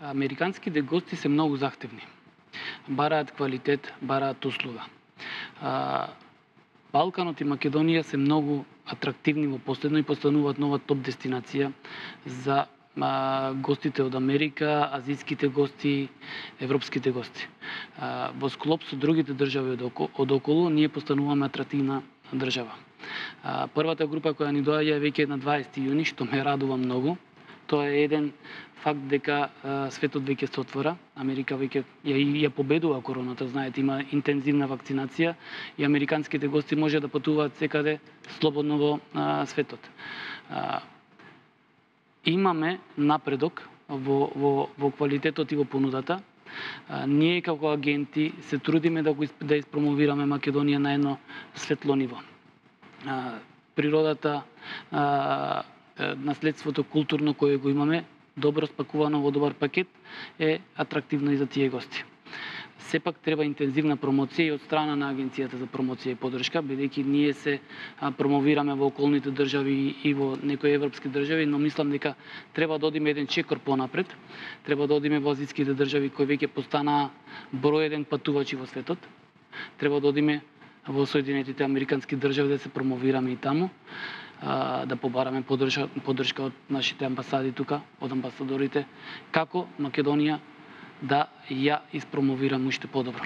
Американските гости се многу захтевни. Бараат квалитет, бараат услуга. Балканот и Македонија се многу атрактивни во последно и постануваат нова топ дестинација за гостите од Америка, азијските гости, европските гости. Во склоп со другите држави од околу, ние постануваме атрактивна држава. Првата група која ни доаѓа е веќе на 20 јуни, што ме радува многу. Тоа е еден факт дека светот веќе се отвора. Америка веќе ја победува короната, знаете, има интензивна вакцинација и американските гости може да патуваат секаде слободно во светот. Имаме напредок во квалитетот и во понудата. Ние како агенти се трудиме да испромовираме Македонија на едно светло ниво. Природата, наследството културно кое го имаме, добро спакувано во добар пакет, е атрактивно и за тие гости. Сепак треба интензивна промоција и од страна на Агенцијата за промоција и поддршка, бидејќи ние се промовираме во околните држави и во некои европски држави, но мислам дека треба да одиме еден чекор понапред. Треба да одиме во азијските држави кои веќе постанаа број еден патувачи во светот. Треба да одиме во Соединетите Американски држави да се промовираме и таму, да побараме поддршка од нашите амбасади тука, од амбасадорите, како Македонија да ја испромовираме уште подобро.